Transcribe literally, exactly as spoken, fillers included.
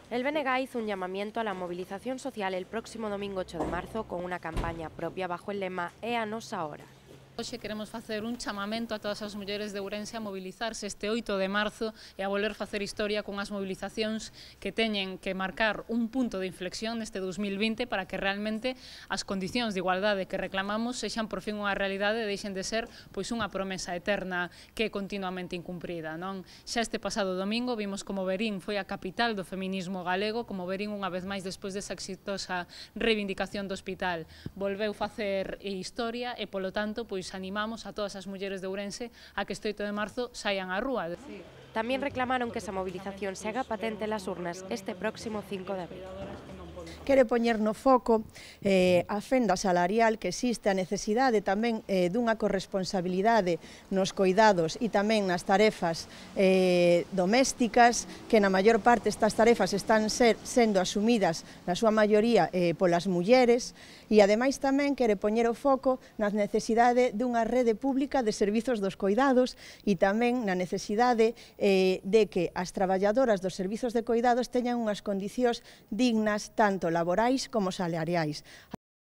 El B N G hizo un llamamiento a la movilización social el próximo domingo ocho de marzo con una campaña propia bajo el lema "É a nosa hora". Hoxe queremos facer un chamamento a todas as mulleres de Ourense a mobilizarse este oito de marzo e a volver facer historia con as mobilizacións que teñen que marcar un punto de inflexión neste dos mil vinte para que realmente as condicións de igualdade que reclamamos sexan por fin unha realidade e deixen de ser pois unha promesa eterna que é continuamente incumprida, non? Xa este pasado domingo vimos como Verín foi a capital do feminismo galego, como Verín unha vez máis despois desa exitosa reivindicación do hospital volveu facer historia e polo tanto pois animamos a todas as mulleres de Ourense a que este oito de marzo saian á rúa. También reclamaron que esa movilización se haga patente en las urnas este próximo cinco de abril. Quere poñer no foco eh, a fenda salarial que existe, a necesidade tamén eh, dunha corresponsabilidade nos coidados e tamén nas tarefas eh, domésticas, que na maior parte estas tarefas están ser, sendo asumidas na súa maioría eh, polas mulleres, e ademais tamén quere poñer o foco na necesidade dunha rede pública de servizos dos coidados e tamén na necesidade eh, de que as traballadoras dos servizos de coidados teñan unhas condicións dignas tanto laborais como salariais.